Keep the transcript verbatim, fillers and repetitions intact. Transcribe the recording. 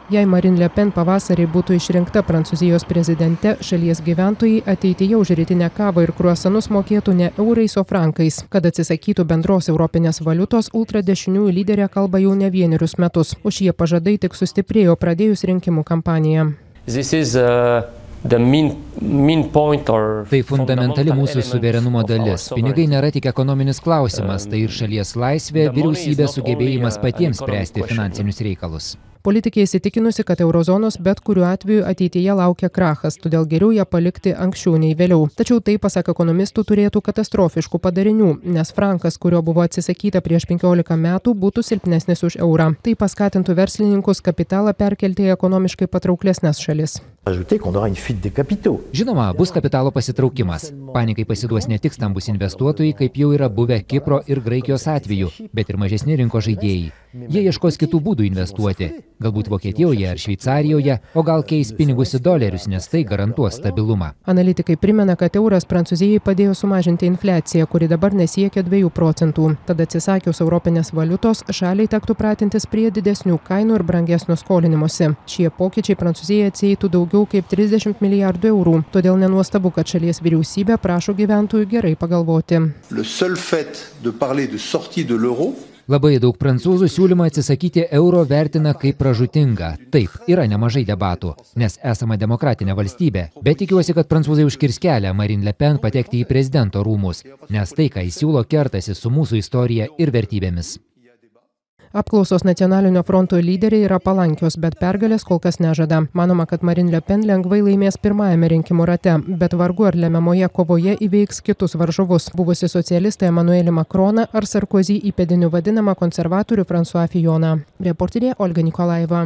Jei Marine Le Pen pavasarį būtų išrinkta Prancūzijos prezidente, šalies gyventojai ateityje už rytinę kavą ir kruasanus mokėtų ne eurais, o frankais. Kad atsisakytų bendros europinės valiutos, ultradešiniųjų lyderė kalba jau ne vienerius metus. O šie pažadai tik sustiprėjo pradėjus rinkimų kampaniją. This is, uh... Main, main or... Tai fundamentali mūsų suverenumo dalis. Pinigai nėra tik ekonominis klausimas, tai ir šalies laisvė, vyriausybės sugebėjimas patiems spręsti finansinius reikalus. Politikė įsitikinusi, kad eurozonos bet kuriuo atveju ateityje laukia krachas, todėl geriau ją palikti anksčiau nei vėliau. Tačiau tai, pasak ekonomistų, turėtų katastrofiškų padarinių, nes frankas, kurio buvo atsisakyta prieš penkiolika metų, būtų silpnesnis už eurą. Tai paskatintų verslininkus kapitalą perkelti į ekonomiškai patrauklesnes šalis. Žinoma, bus kapitalo pasitraukimas. Panikai pasiduos ne tik stambus investuotojai, kaip jau yra buvę Kipro ir Graikijos atveju, bet ir mažesni rinkos žaidėjai. Jie ieškos kitų būdų investuoti. Galbūt Vokietijoje ar Šveicarijoje, o gal keis pinigus į dolerius, nes tai garantuos stabilumą. Analitikai primena, kad euras Prancūzijai padėjo sumažinti infliaciją, kuri dabar nesiekia dviejų procentų. Tad atsisakius europinės valiutos, šaliai tektų pratintis prie didesnių kainų ir brangesnio skolinimosi. Šie pokyčiai Prancūzijai atsieitų daugiau kaip trisdešimt milijardų eurų. Todėl nenuostabu, kad šalies vyriausybė prašo gyventojų gerai pagalvoti. Labai daug prancūzų siūlymą atsisakyti euro vertina kaip pražūtingą. Taip, yra nemažai debatų, nes esama demokratinė valstybė, bet tikiuosi, kad prancūzai užkirs kelią Marine Le Pen patekti į prezidento rūmus, nes tai, ką jis siūlo, kertasi su mūsų istorija ir vertybėmis. Apklausos Nacionalinio fronto lyderiai yra palankios, bet pergalės kol kas nežada. Manoma, kad Marine Le Pen lengvai laimės pirmajame rinkimų rate, bet vargu ar lemiamoje kovoje įveiks kitus varžovus, buvusi socialistą Emmanuelį Macroną ar Sarkozy įpėdiniu vadinamą konservatorių François Filloną. Reporterė Olga Nikolaeva.